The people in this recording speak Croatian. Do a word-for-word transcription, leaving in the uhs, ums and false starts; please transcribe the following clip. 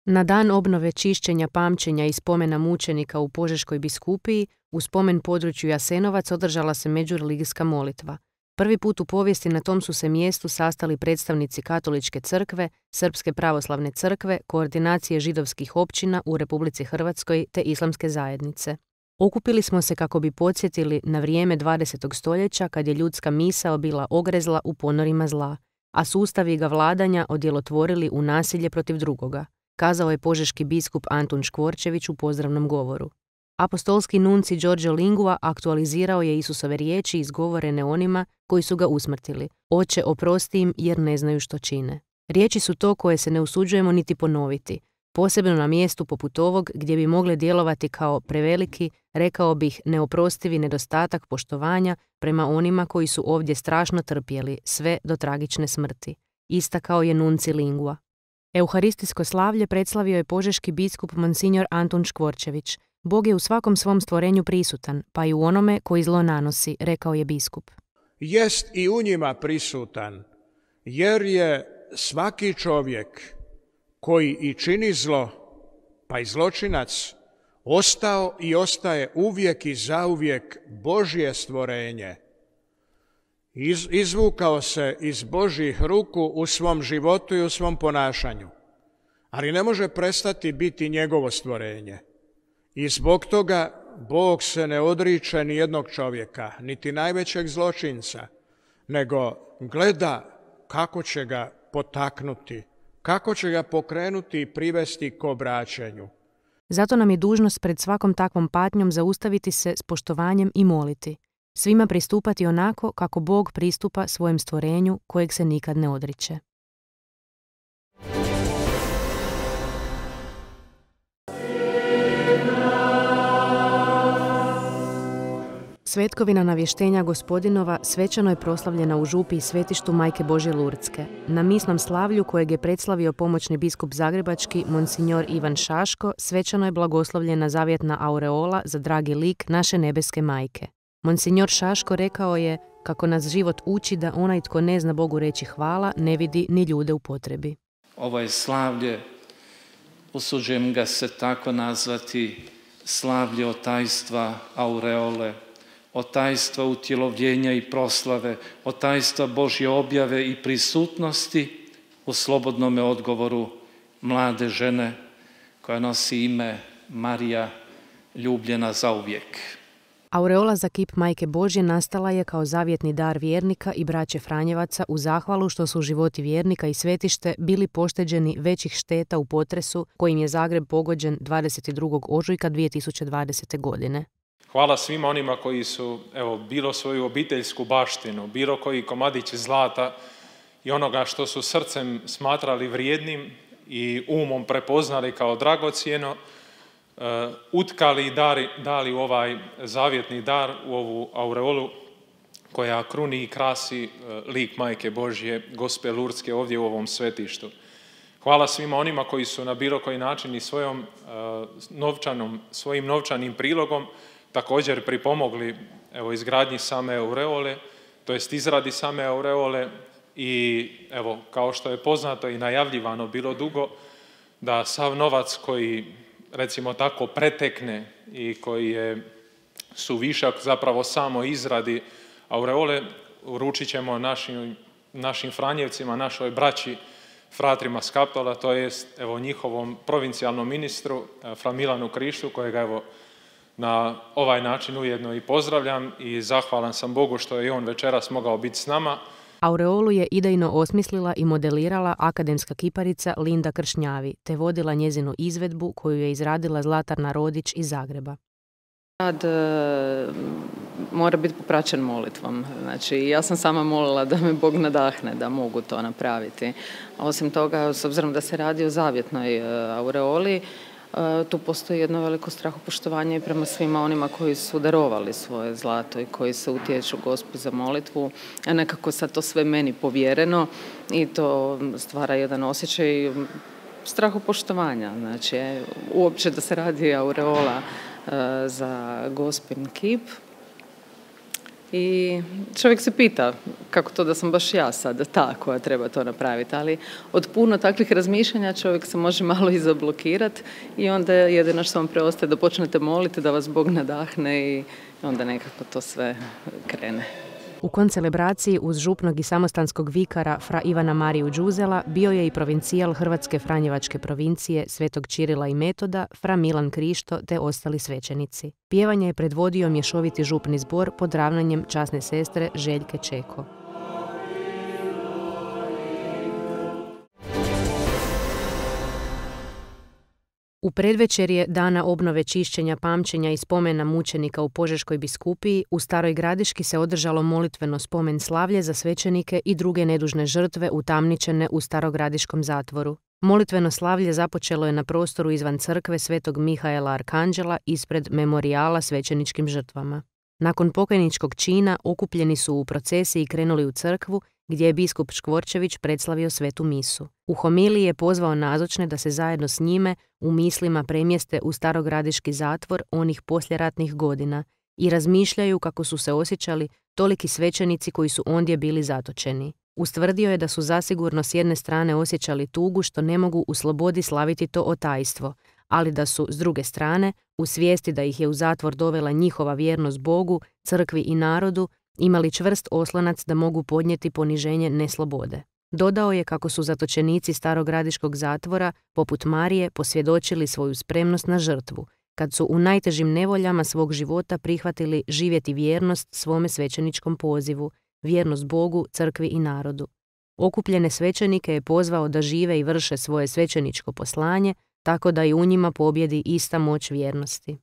Na dan obnove čišćenja, pamćenja i spomena mučenika u Požeškoj biskupiji, u spomen području Jasenovac održala se međureligijska molitva. Prvi put u povijesti na tom su se mjestu sastali predstavnici Katoličke crkve, Srpske pravoslavne crkve, Koordinacije židovskih općina u Republici Hrvatskoj te Islamske zajednice. Okupili smo se kako bi podsjetili na vrijeme dvadesetog stoljeća kad je ljudska misao bila ogrezla u ponorima zla, a sustavi ga vladanja odjelotvorili u nasilje protiv drugoga, kazao je požeški biskup Antun Škvorčević u pozdravnom govoru. Apostolski nunci Giorgio Lingua aktualizirao je Isusove riječi izgovorene onima koji su ga usmrtili. Oče, oprosti im jer ne znaju što čine. Riječi su to koje se ne usuđujemo niti ponoviti, posebno na mjestu poput ovog gdje bi mogle djelovati kao preveliki, rekao bih, neoprostivi nedostatak poštovanja prema onima koji su ovdje strašno trpjeli, sve do tragične smrti. Istakao je nunci Lingua. Euharistijsko slavlje predslavio je požeški biskup Monsignor Antun Škvorčević. Bog je u svakom svom stvorenju prisutan, pa i u onome koji zlo nanosi, rekao je biskup. Jest i u njima prisutan, jer je svaki čovjek koji i čini zlo, pa i zločinac, ostao i ostaje uvijek i zauvijek Božje stvorenje. Iz, izvukao se iz Božjih ruku u svom životu i u svom ponašanju, ali ne može prestati biti njegovo stvorenje. I zbog toga Bog se ne odriče ni jednog čovjeka, niti najvećeg zločinca, nego gleda kako će ga potaknuti, kako će ga pokrenuti i privesti k obraćanju. Zato nam je dužnost pred svakom takvom patnjom zaustaviti se s poštovanjem i moliti. Svima pristupati onako kako Bog pristupa svojem stvorenju kojeg se nikad ne odriče. Svetkovina navještenja Gospodinova svečano je proslavljena u župi i svetištu Majke Božje Lurdske. Na misnom slavlju kojeg je predslavio pomoćni biskup zagrebački Monsignor Ivan Šaško, svečano je blagoslovljena zavjetna aureola za dragi lik naše nebeske majke. Monsignor Šaško rekao je kako nas život uči da onaj tko ne zna Bogu reći hvala ne vidi ni ljude u potrebi. Ovo je slavlje, usuđujem ga se tako nazvati, slavlje otajstva aureole, otajstva utjelovljenja i proslave, otajstva Božje objave i prisutnosti u slobodnome odgovoru mlade žene koja nosi ime Marija, ljubljena zauvijek. Aureola za kip Majke Božje nastala je kao zavjetni dar vjernika i braće Franjevaca u zahvalu što su životi vjernika i svetište bili pošteđeni većih šteta u potresu kojim je Zagreb pogođen dvadeset drugog ožujka dvije tisuće dvadesete. godine. Hvala svima onima koji su, evo, bilo svoju obiteljsku baštinu, bilo koji komadić zlata i onoga što su srcem smatrali vrijednim i umom prepoznali kao dragocjeno, uh, utkali i dali, dali u ovaj zavjetni dar, u ovu aureolu koja kruni i krasi uh, lik Majke Božje, Gospe Lurdske ovdje u ovom svetištu. Hvala svima onima koji su na bilo koji način i svojom, uh, novčanom, svojim novčanim prilogom također pripomogli, evo, izgradnji same aureole, to jest izradi same aureole i, evo, kao što je poznato i najavljivano bilo dugo, da sav novac koji, recimo tako, pretekne i koji je suvišak zapravo samo izradi aureole, uručit ćemo našim, našim Franjevcima, našoj braći, fratrima s Kaptola, to jest, evo, njihovom provincijalnom ministru, fra Milanu Krištu, kojega, evo, na ovaj način ujedno i pozdravljam i zahvalan sam Bogu što je i on večeras mogao biti s nama. Aureolu je idejno osmislila i modelirala akademska kiparica Linda Kršnjavi, te vodila njezinu izvedbu koju je izradila Zlatarna Rodić iz Zagreba. Rad e, mora biti popraćen molitvom. Znači, ja sam sama molila da me Bog nadahne da mogu to napraviti. Osim toga, s obzirom da se radi o zavjetnoj e, aureoli, tu postoji jedno veliko strahopoštovanje i prema svima onima koji su darovali svoje zlato i koji se utječu Gospi za molitvu. A nekako sad to sve meni povjereno i to stvara jedan osjećaj strahopoštovanja. Znači, uopće da se radi aureola za Gospin kip. I čovjek se pita kako to da sam baš ja sad ta koja treba to napraviti, ali od puno takvih razmišljanja čovjek se može malo i zablokirati i onda jedino što vam preostaje da počnete moliti, da vas Bog nadahne i onda nekako to sve krene. U koncelebraciji uz župnog i samostanskog vikara fra Ivana Mariju Đuzela bio je i provincijal Hrvatske Franjevačke provincije Svetog Čirila i Metoda, fra Milan Krišto te ostali svećenici. Pjevanje je predvodio mješoviti župni zbor pod ravnanjem časne sestre Željke Čeko. U predvečerje dana obnove čišćenja, pamćenja i spomena mučenika u Požeškoj biskupiji u Staroj Gradiški se održalo molitveno spomen slavlje za svećenike i druge nedužne žrtve utamničene u Starogradiškom zatvoru. Molitveno slavlje započelo je na prostoru izvan crkve Svetog Mihaela Arkanđela ispred memorijala svećeničkim žrtvama. Nakon pokajničkog čina okupljeni su u procesiji i krenuli u crkvu gdje je biskup Škvorčević predslavio svetu misu. U homiliji je pozvao nazočne da se zajedno s njime u mislima premjeste u Starogradiški zatvor onih posljeratnih godina i razmišljaju kako su se osjećali toliki svećenici koji su ondje bili zatočeni. Ustvrdio je da su zasigurno s jedne strane osjećali tugu što ne mogu u slobodi slaviti to otajstvo, ali da su, s druge strane, u svijesti da ih je u zatvor dovela njihova vjernost Bogu, crkvi i narodu, imali čvrst oslonac da mogu podnijeti poniženje neslobode. Dodao je kako su zatočenici Starogradiškog zatvora, poput Marije, posvjedočili svoju spremnost na žrtvu, kad su u najtežim nevoljama svog života prihvatili živjeti vjernost svome svećeničkom pozivu, vjernost Bogu, crkvi i narodu. Okupljene svećenike je pozvao da žive i vrše svoje svećeničko poslanje, tako da i u njima pobjedi ista moć vjernosti.